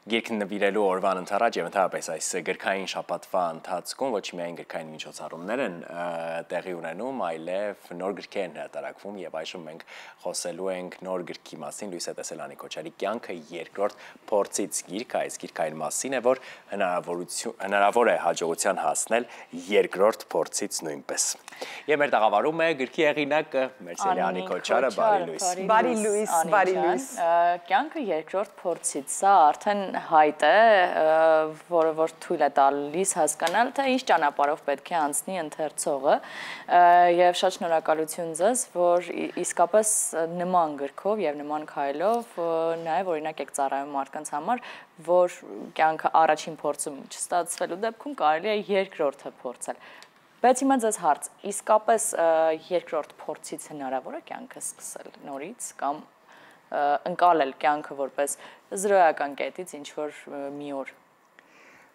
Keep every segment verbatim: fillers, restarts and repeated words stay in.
Գիրքն նվիրելու օրվան ընթառաջ եւ ընդհանրապես այս գրքային շաբաթվա ընթացքում ոչ միայն գրքային միջոցառումներ են տեղի ունենում, այլև նոր գրքեր են հրատարակվում եւ այժմ մենք խոսելու ենք նոր գրքի մասին Լույս է տեսել Անի Քոչարի կյանքը երկրորդ փորձից գիրք, այս գիրքային մասին է, որ հնարավորություն հնարավոր է հաջողության հասնել երկրորդ փորձից նույնպես։ Եվ մեր տաղավարում է գրքի հեղինակը Մերսելի Անի Քոչարը, բարի լույս։ Բարի լույս, բարի լույս։ Կյանքը երկրորդ փորձից, սա արդեն հայտ է, որը որ թույլ է տալիս հասկանալ, թե ինչ ճանապարհով պետք է անցնի ընթերցողը, եւ շատ շնորհակալություն ձեզ, որ իսկապես նման գրքով եւ նման քայլով նաեւ օրինակ եք ծառայում մարդկանց համար, որ կյանքը առաջին փորձում չստացվելու դեպքում կարելի է երկրորդը փորձել։ Բայց հիմա ձեզ հարց, իսկապես երկրորդ փորձից հնարավոր է կյանքը սկսել նորից կամ ընկալել կյանքը որպես զրոյական կետից ինչ-որ մի օր։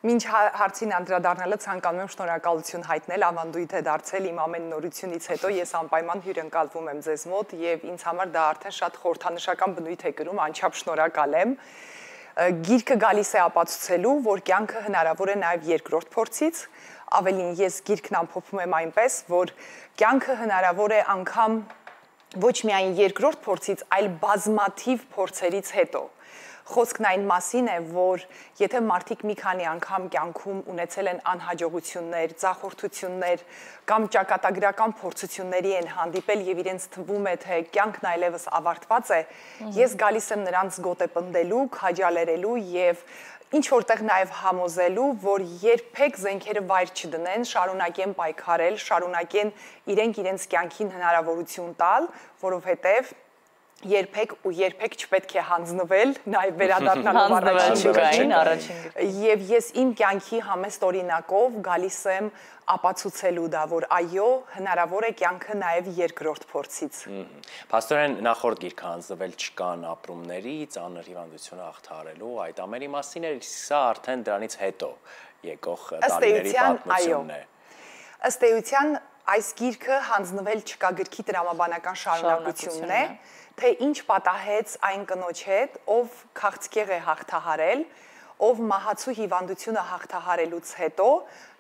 Մինչ հարցին անդրադառնալը ցանկանում եմ շնորհակալություն հայտնել ավանդույթ է դարձել իմ ամեն նորությունից հետո ես անպայման հյուրընկալվում եմ ձեզ մոտ եւ ինձ համար դա արդեն շատ խորհրդանշական բնույթ է կրում, անչափ շնորհակալ եմ։ Գիրքը գալիս է ապացուցելու, որ կյանքը հնարավոր է նաեւ երկրորդ փորձից, ավելին ես գիրքն ամփոփում եմ այնպես, որ կյանքը հնարավոր է անգամ ոչ միայն երկրորդ փորձից, այլ բազմաթիվ փորձերից հետո։ Խոսքն այն մասին է, որ եթե մարդիկ մի քանի անգամ կյանքում ունեցել են անհաջողություններ, ձախորդություններ կամ ճակատագրական փորձությունների են հանդիպել եւ իրենց թվում է, թե կյանքն այլևս ավարտված է, ես գալիս եմ նրանց գոտեպնդելու, քաջալերելու եւ ինչ որտեղ նաև համոզելու, որ երբեք զենքերը վայր չդնեն, շարունակեն պայքարել, շարունակեն իրենք իրենց կյանքին հնարավորություն տալ, որովհետև երբեք ու երբեք չպետք է հանձնվել, նաև վերադառնալով առաջին առաջին եւ ես իմ կյանքի համեստ օրինակով գալիս եմ ապացուցելու դա, որ այո, հնարավոր է կյանքը նաև երկրորդ փորձից։ Փաստորեն նախորդ գիրքը հանձնվել չկան ապրումների, ծանր հիվանդությունը հաղթահարելու, այդ ամենի մասին է, սա արդեն դրանից հետո եկող տարիների պատմությունն է։ Ըստ էության այս գիրքը հանձնվել չկա գրքի տրամաբանական շարունակությունն է, թե ինչ պատահեց այն կնոջ հետ, ով քաղցկեղ է հաղթահարել, ով մահացու հիվանդությունը հաղթահարելուց հետո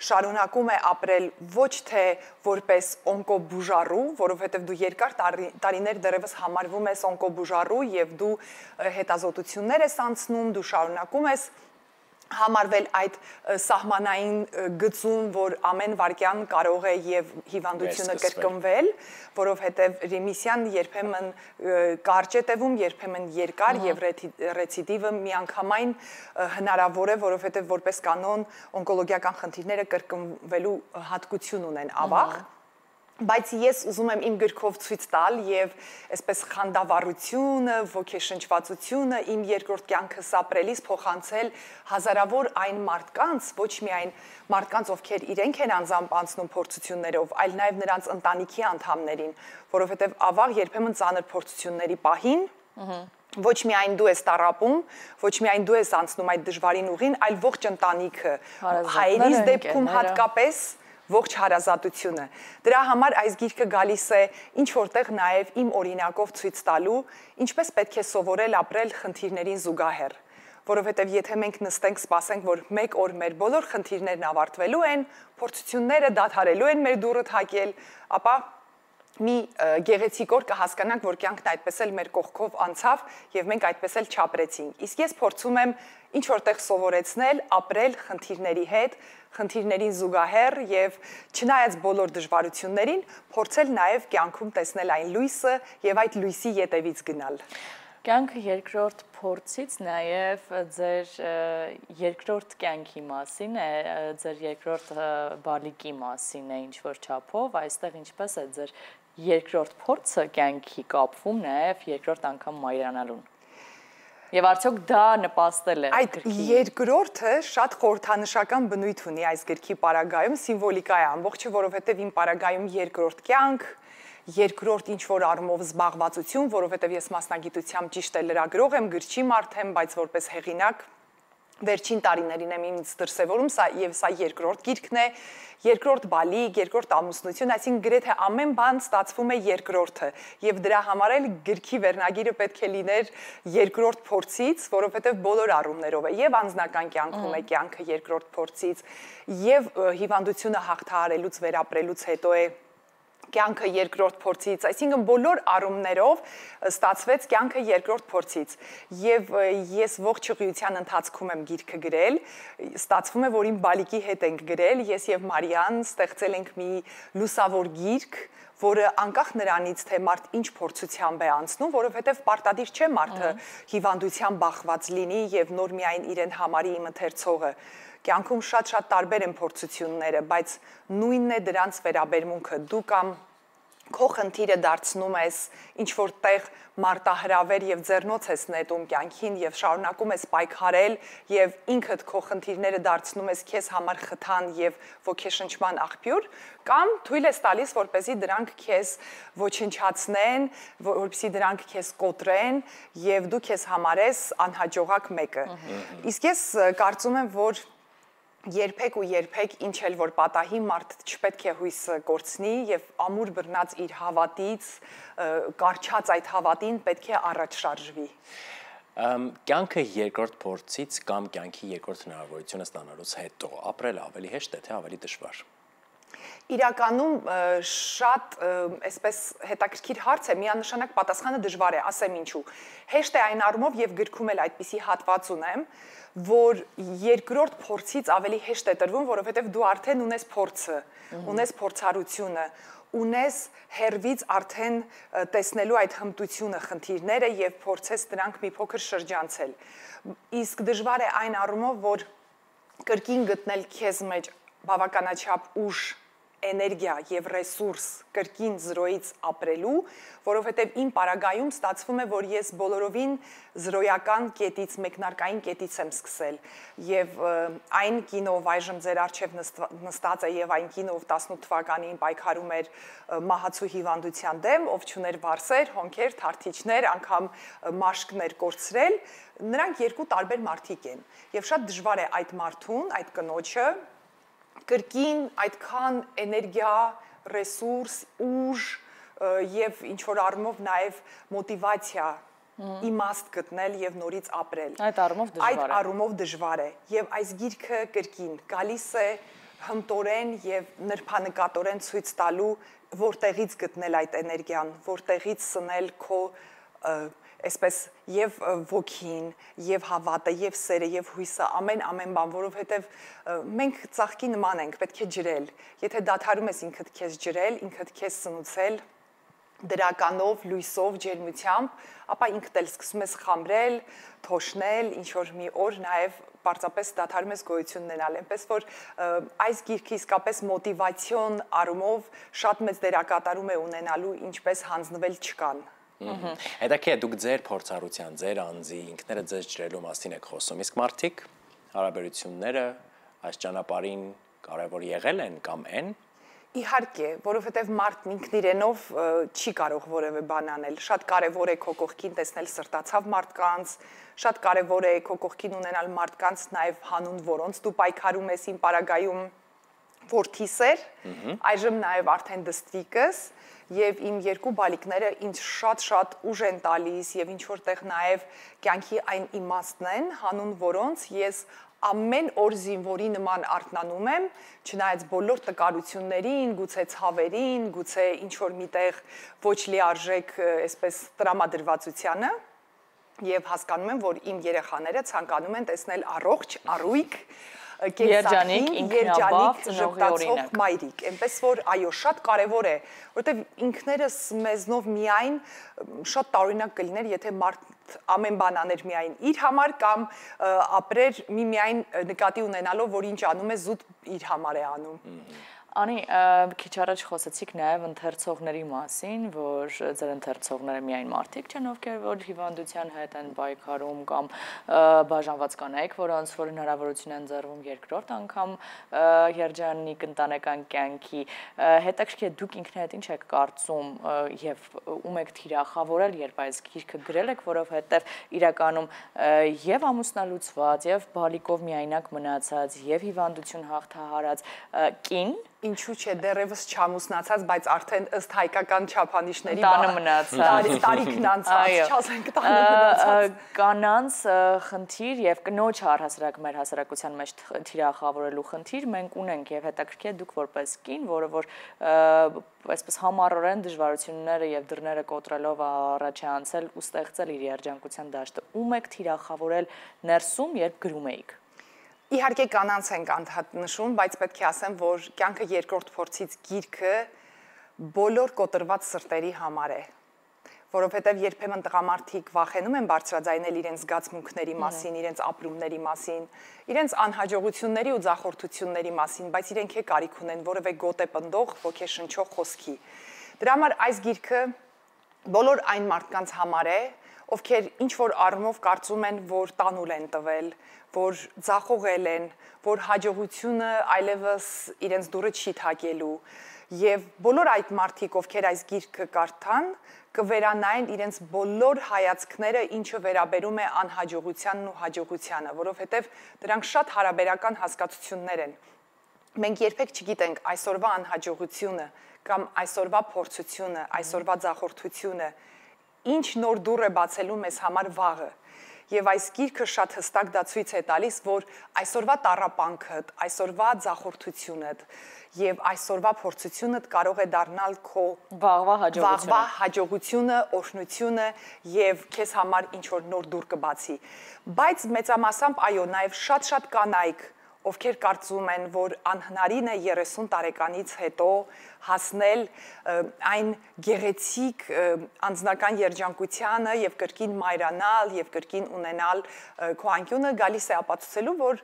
շարունակում է ապրել ոչ թե որպես օնկոբուժառու, որովհետև դու երկար տարիներ դեռևս համարվում ես օնկոբուժառու եւ դու հետազոտություններ ես անցնում, դու շարունակում ես համարվել այդ սահմանային գծում, որ ամեն վարքյան կարող է եւ հիվանդությունը կրկնվել, որովհետեւ ռեմիսիան երբեմն կարճ է տևում, երբեմն երկար եւ ռեցիդիվը միանգամայն հնարավոր է, որովհետեւ որպես կանոն օնկոլոգիական խնդիրները կրկնվելու հատկություն ունեն ավաղ։ Բայց ես ուզում եմ իմ գրքով ցույց տալ եւ այսպես խանդավառությունը, ոգեշնչվածությունը իմ երկրորդ կյանքս ապրելիս փոխանցել հազարավոր այն մարդկանց, ոչ միայն մարդկանց, ովքեր իրենք են անձամբ անցնում փորձություններով, այլ նաեւ նրանց ընտանիքի անդամներին, որովհետեւ ավաղ երբեմն ծանր փորձությունների պահին ոչ միայն դու ես տառապում, ոչ միայն դու ես անցնում այդ դժվարին ուղին, այլ ողջ ընտանիքը, հայրից դեպքում հատկապես ողջ հարազատությունը։ Դրա համար այս գիրքը գալիս է ինչ որտեղ նաև իմ օրինակով ցույց տալու, ինչպես պետք է սովորել ապրել խնդիրներին զուգահեռ, որովհետև եթե մենք նստենք սպասենք, որ մեկ օր մեր բոլոր խնդիրներն ավարտվելու են, փորձությունները դադարելու են մեր դուռը թակել, ապա մի գեղեցիկ օր կհասկանանք, որ կյանքն այդպես էլ մեր կողքով անցավ եւ մենք այդպես էլ չապրեցինք։ Իսկ ես փորձում եմ ինչ որտեղ սովորեցնել, ապրել խնդիրների հետ, խնդիրներին զուգահեռ եւ չնայած բոլոր դժվարություններին, փորձել նաեւ կյանքում տեսնել այն լույսը եւ այդ լույսի ետևից գնալ։ Կյանքը երկրորդ փորձից նաև ձեր երկրորդ կյանքի մասին է, ձեր երկրորդ բալիկի մասին է ինչ-որ չափով, այստեղ ինչպես է ձեր երկրորդ փորձը կյանքի կապվում նաև երկրորդ անգամ մայրանալուն։ Եվ արդյոք դա նպաստել է այդ երկրորդը շատ խորհրդանշական բնույթ ունի այս գրքի պարագայում, սիմվոլիկա է ամբողջը, որովհետև իմ պարագայում երկրորդ կյանք, երկրորդ ինչ-որ առումով զբաղվածություն, որովհետև ես մասնագիտությամբ ճիշտ է լրագրող եմ, գրչի մարդ եմ, բայց որպես հեղինակ վերջին տարիներին եմ ինձ դրսևորում, սա եւ սա երկրորդ գիրքն է, երկրորդ բալիկ, երկրորդ ամուսնություն, այսինքն գրեթե ամեն բան ստացվում է երկրորդը եւ դրա համար էլ գրքի վերնագիրը պետք է լիներ երկրորդ փորձից, որովհետեւ բոլոր առումներով է եւ անձնական կյանքում է կյանքը երկրորդ փորձից եւ հիվանդությունը հաղթահարելուց վերապրելուց հետո է կյանքը երկրորդ փորձից, այսինքն բոլոր առումներով ստացվեց կյանքը երկրորդ փորձից եւ ես ողջ ուղղության ընթացքում եմ գիրքը գրել, ստացվում է, որ իմ բալիկի հետ ենք գրել, ես եւ Մարիան ստեղծել ենք մի լուսավոր գիրք, որը անկախ նրանից, թե մարդ ինչ փորձությամբ է անցնում, որովհետեւ պարտադիր չէ մարդը հիվանդությամբ բախված լինի եւ նոր միայն իրեն համարի իմ ընթերցողը։ Կյանքում շատ-շատ տարբեր են փորձությունները, բայց նույնն է դրանց վերաբերմունքը։ Դու կամ քո խնդիրը դարձնում ես ինչ-որ տեղ մարտահրավեր եւ ձեռնոց ես նետում կյանքին եւ շարունակում ես պայքարել եւ ինքդ քո խնդիրները դարձնում ես քեզ համար խթան եւ ոգեշնչման աղբյուր, կամ թույլ ես տալիս, որպեսզի դրանք քեզ ոչնչացնեն, որպեսզի դրանք քեզ կոտրեն եւ դու քեզ համարես անհաջողակ մեկը։ Իսկ ես կարծում եմ, որ երբեք ու երբեք ինչ էլ որ պատահի մարդ չպետք է հույսը կորցնի եւ ամուր բռնած իր հավատից, կարճած այդ հավատին պետք է առաջ շարժվի։ Կյանքը երկրորդ փորձից կամ կյանքի երկրորդ հնարավորությունը ստանալուց հետո ապրելը ավելի հեշտ է, թե ավելի դժվար։ Իրականում շատ այսպես հետաքրքիր հարց է, միանշանակ պատասխանը դժվար է, ասեմ ինչու։ Հեշտ է այն առումով եւ գրքում էլ այդպիսի հատված ունեմ, որ երկրորդ փորձից ավելի հեշտ է տրվում, որովհետեւ դու արդեն ունես փորձը, ունես փորձառությունը, ունես հերվից արդեն տեսնելու այդ հմտությունը, խնդիրները եւ փորձես դրանք մի փոքր շրջանցել։ Իսկ դժվար է այն առումով, որ կրկին գտնել քեզ մեջ բավականաչափ ուժ, էներգիա եւ ռեսուրս կրկին զրոյից ապրելու, որովհետեւ իմ պարագայում ստացվում է, որ ես բոլորովին զրոյական կետից, մեկնարկային կետից եմ սկսել եւ այն կինով այժմ ձեր արչեւ նստած է եւ այն կինով տասնութ թվականին պայքարում էր մահացու հիվանդության դեմ, ով չուներ վարսեր, հոնքեր, թարթիչներ, անգամ մաշկներ կորցրել, նրանք երկու տարբեր մարդիկ են եւ շատ դժվար է այդ մարդուն, այդ կնոջը կրկին այդքան էներգիա, ռեսուրս, ուժ եւ ինչ որ առումով նաեւ մոտիվացիա իմաստ գտնել եւ նորից ապրել։ Այդ առումով դժվար է։ Այդ առումով դժվար է եւ այս գիրքը կրկին գալիս է հմտորեն եւ նրբանկատորեն ցույց տալու որտեղից գտնել այդ էներգիան, որտեղից սնել քո այսպես եւ ոգին, եւ հավատը, եւ սերը, եւ հույսը, ամեն ամեն բան, որովհետեւ մենք ծաղկի նման ենք, պետք է ջրել։ Եթե դադարում ես ինքդ քեզ ջրել, ինքդ քեզ սնուցել դրականով, լույսով, ջերմությամբ, ապա ինքդ էլ սկսում ես խամրել, թոշնել, ինչ որ մի օր նաեւ պարզապես դադարում ես գոյություն ունենալ, այնպես որ այս գիրքը իսկապես մոտիվացիոն առումով շատ մեծ դերակատարում է ունենալու ինչպես հանձնվել չկան։ Հետաքրքիր է, դուք ձեր փորձառության, ձեր անձի, ինքներդ ձեզ ջրելու մասին եք խոսում, իսկ մարդիկ հարաբերությունները այս ճանապարհին կարևոր եղել են կամ են։ Իհարկե, որովհետև մարդն ինքն իրենով չի կարող որևէ բան անել։ Շատ կարևոր է քո կողքին տեսնել սրտացավ մարդկանց, շատ կարևոր է քո կողքին ունենալ մարդկանց նաև հանուն որոնց դու պայքարում ես իմ պարագայում որդիս էր, այժմ նաև արդեն դստիկս, եւ իմ երկու բալիկները ինձ շատ-շատ ուժ են տալիս եւ ինչ որտեղ նաեւ կյանքի այն իմաստն են, հանուն որոնց ես ամեն օր զինվորի նման արթնանում եմ, չնայած բոլոր տկարություններին, գուցե ցավերին, գուցե ինչ որ միտեղ ոչ լիարժեք, այսպես տրամադրվածությանը, եւ հասկանում եմ, որ իմ երեխաները ցանկանում են տեսնել առողջ, առույգ Երջանիկ, ինքնաբավ, ժպտացող մայրիկ, այնպես որ այո, շատ կարևոր է, որտեղ ինքներս մեզնով միայն շատ տարօրինակ կլիներ, եթե մարդ ամեն բան աներ միայն իր համար կամ ապրեր միմիայն նկատի ունենալով, որ ինչ անում է, զուտ իր համար է անում։ Անի, քիչ առաջ խոսեցիք նաև ընթերցողների մասին, որ ձեր ընթերցողները միայն մարդիկ չեն, ովքեր որ հիվանդության հետ են պայքարում կամ բաժանված կանայք, որոնց որ հնարավորություն են ընձեռվում երկրորդ անգամ երջանիկ ընտանեկան կյանքի։ Հետաքրքիր է դուք ինքներդ ինչ եք կարծում եւ ում եք թիրախավորել, երբ այս գիրքը գրել եք, որովհետեւ իրականում եւ ամուսնալուծված, եւ բալիկով միայնակ մնացած, եւ հիվանդություն հաղթահարած կին Ինչու՞ չէ, դեռևս չամուսնացած, բայց արդեն ըստ հայկական չափանիշների տանը մնացած, տարիքն անցած, չասենք տանը մնացած։ Կանանց խնդիր եւ կնոջ առհասարակ մեր հասարակության մեջ թիրախավորելու խնդիր մենք ունենք եւ հետաքրքիր է դուք որպես կին, որը որ այսպես համառորեն դժվարությունները եւ դռները կոտրելով առաջ է անցել ու ստեղծել իր երջանկության դաշտը։ Ում եք թիրախավորել ներսում, երբ գրում էիք։ Իհարկե կանանց ենք անդադ նշում, բայց պետք է ասեմ, որ կյանքը երկրորդ փորձից գիրքը բոլոր կոտրված սրտերի համար է, որովհետև երբեմն տղամարդիկ վախենում են բարձրաձայնել իրենց զգացմունքների մասին, իրենց ապրումների մասին, իրենց անհաջողությունների ու ձախորդությունների մասին, բայց իրենք է կարիք ունեն որևէ գոտե պնդող, ոգեշնչող խոսքի։ Դրա համար այս գիրքը բոլոր այն մարդկանց համար է, ովքեր ինչ-որ առումով կարծում են, որ տանուլ են տվել, որ ձախողել են, որ հաջողությունը այլևս իրենց դուրը չի թակելու եւ բոլոր այդ մարդիկ, ովքեր այս գիրքը կարդան, կվերանային իրենց բոլոր հայացքները, ինչը վերաբերում է անհաջողությանն ու հաջողությանը, որովհետեւ դրանք շատ հարաբերական հասկացություններ են։ Մենք երբեք չգիտենք այսօրվա անհաջողությունը կամ այսօրվա փորձությունը, այսօրվա ձախորդությունը ինչ նոր դուռ է բացելու մեզ համար վաղը։ Եվ այս գիրքը շատ հստակ դա ցույց է տալիս, որ այսօրվա տառապանքդ, այսօրվա ձախորդությունդ եւ այսօրվա փորձությունդ կարող է դառնալ քո վաղվա հաջողությունը, վաղվա հաջողությունը, օրհնությունը եւ քեզ համար ինչ որ նոր դուռ կբացի։ Բայց մեծամասամբ այո, նաեւ շատ-շատ կանայք, ովքեր կարծում են, որ անհնարին է երեսուն տարեկանից հետո հասնել այն գեղեցիկ անձնական երջանկությանը եւ կրկին մայրանալ եւ կրկին ունենալ քո անկյունը, գալիս է ապացուցելու, որ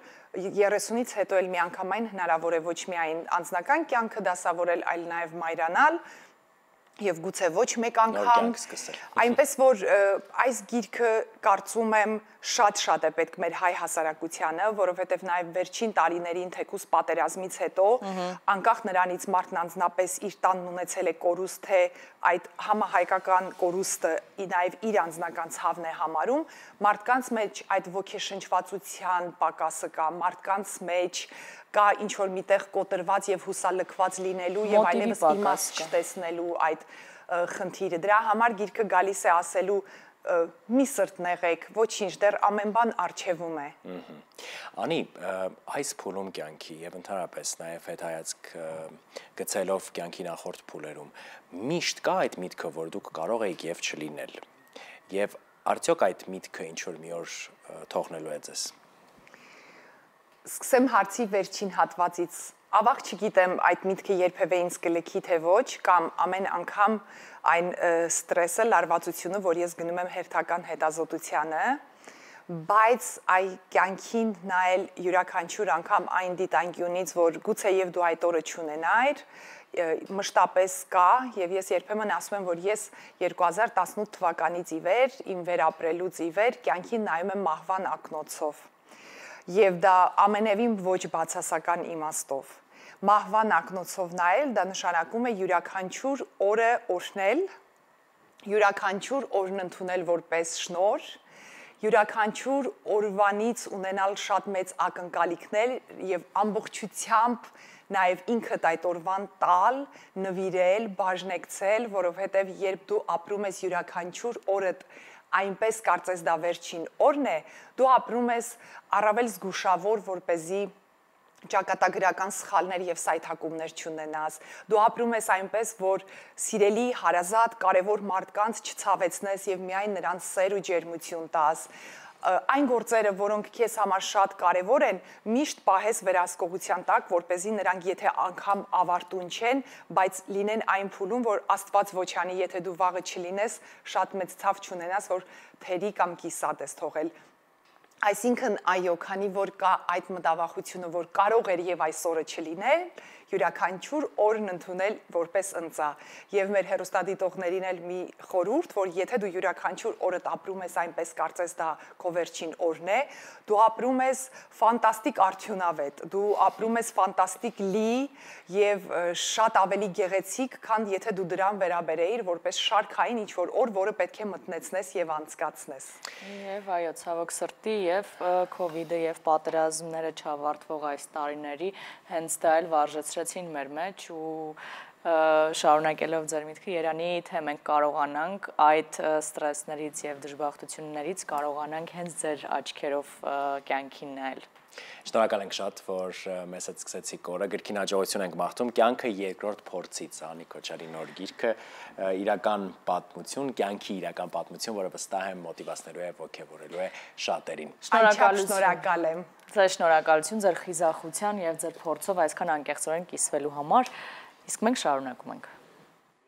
երեսունից հետո էլ միանգամայն հնարավոր է ոչ միայն անձնական կյանքը դասավորել, այլ նաեւ մայրանալ եւ գուցե ոչ մեկ անգամ, այնպես որ այս գիրքը կարծում եմ շատ-շատ է պետք մեր հայ հասարակությանը, որովհետեւ նաեւ վերջին տարիներին թեկուզ պատերազմից հետո, անկախ նրանից մարդն անձնապես իր տանն ունեցել է կորուստ, թե այդ համահայկական կորուստը նաեւ իր անձնական ցավն է համարում, մարդկանց մեջ այդ ոգեշնչվածության պակասը կա, մարդկանց մեջ կա ինչ-որ միտեղ կոտրված եւ հուսալքված լինելու եւ այլևս իմաստ չտեսնելու այդ խնդիրը։ Դրա համար գիրքը գալիս է ասելու մի սրտ նեղեք, ոչինչ, դեռ ամեն բան առջևում է։ Անի, այս փուլում կյանքի եւ ընդհանրապես նաեւ հետայացք գցելով կյանքի նախորդ փուլերում միշտ կա այդ միտքը, որ դուք կարող եք եւ չլինել։ Եվ արդյոք այդ միտքը ինչ որ մի օր թողնելու է ձեզ։ Սկսեմ հարցի վերջին հատվածից։ Ավաղ չգիտեմ այդ միտքը երբևէ ինձ կլքի թե ոչ, կամ ամեն անգամ այն ստրեսը, լարվածությունը, որ ես գնում եմ հերթական հետազոտությանը, բայց այ կյանքին նայել յուրաքանչյուր անգամ այն դիտանկյունից, որ գուցե եւ դու այդ օրը չունենայր, մշտապես կա, եւ ես երբեմն ասում եմ, որ ես երկու հազար տասնութ թվականից ի վեր, իմ վերապրելուց ի վեր, կյանքին նայում եմ մահվան ակնոցով։ Եվ դա ամենևին ոչ բացասական իմաստով։ Մահվան ակնոցով նայել, դա նշանակում է յուրաքանչյուր օրը օրհնել, յուրաքանչյուր օրն ընդունել որպես շնորհ, յուրաքանչյուր օրվանից ունենալ շատ մեծ ակնկալիքներ եւ ամբողջությամբ նաեւ ինքդ այդ օրվան տալ, նվիրել, բաժնեկցել, որովհետեւ երբ դու ապրում ես յուրաքանչյուր օրդ այնպես կարծես դա վերջին օրն է, դու ապրում ես առավել զգուշավոր, որպեսզի ճակատագրական սխալներ եւ սայթակումներ չունենաս։ Դու ապրում ես այնպես, որ սիրելի, հարազատ, կարևոր մարդկանց չցավեցնես եւ միայն նրանց սեր ու ջերմություն տաս։ Այն գործերը, որոնք քեզ համար շատ կարևոր են, միշտ պահես վերահսկողության տակ, որպեսզի նրանք եթե անգամ ավարտուն չեն, բայց լինեն այն փուլում, որ Աստված ոչ անի, եթե դու վաղը չլինես, շատ մեծ ցավ չունենաս, որ թերի կամ կիսատ ես թողել։ Այսինքն, այո, քանի որ կա այդ մտավախությունը, որ կարող էր եւ այսօրը չլինել, յուրաքանչյուր օրն ընդունել որպես ընծա։ Եվ մեր հեռուստադիտողներին էլ մի խորհուրդ, որ եթե դու յուրաքանչյուր օրդ ապրում ես այնպես կարծես դա քո վերջին օրն է, դու ապրում ես ֆանտաստիկ արդյունավետ, դու ապրում ես ֆանտաստիկ լի եւ շատ ավելի գեղեցիկ, քան եթե դու դրան վերաբերեիր որպես շարքային ինչ-որ օր, որը պետք է մտնեցնես եւ անցկացնես։ Եվ այո, ցավոք սրտի եւ քովիդը եւ պատերազմները չավարտվող այս տարիների հենց դա էլ վարժեցրեցին մեր մեջ ու շարունակելով ձեր միտքը Երանի, թե մենք կարողանանք այդ ստրեսներից եւ դժբախտություններից կարողանանք հենց ձեր աչքերով կյանքին նայել։ Շնորհակալ ենք շատ, որ մեզ հետ սկսեցիք օրը, գրքին հաջողություն ենք մաղթում, կյանքը երկրորդ փորձից, Անի Քոչարի նոր գիրքը, իրական պատմություն, կյանքի իրական պատմություն, որը վստահ եմ մոտիվացնելու է, ոգևորելու է շատերին։ Շնորհակալ եմ։ Ձեր շնորհակալություն ձեր խիզախության եւ ձեր փորձով այսքան անկեղծորեն կիսվելու համար, իսկ մենք շարունակում ենք։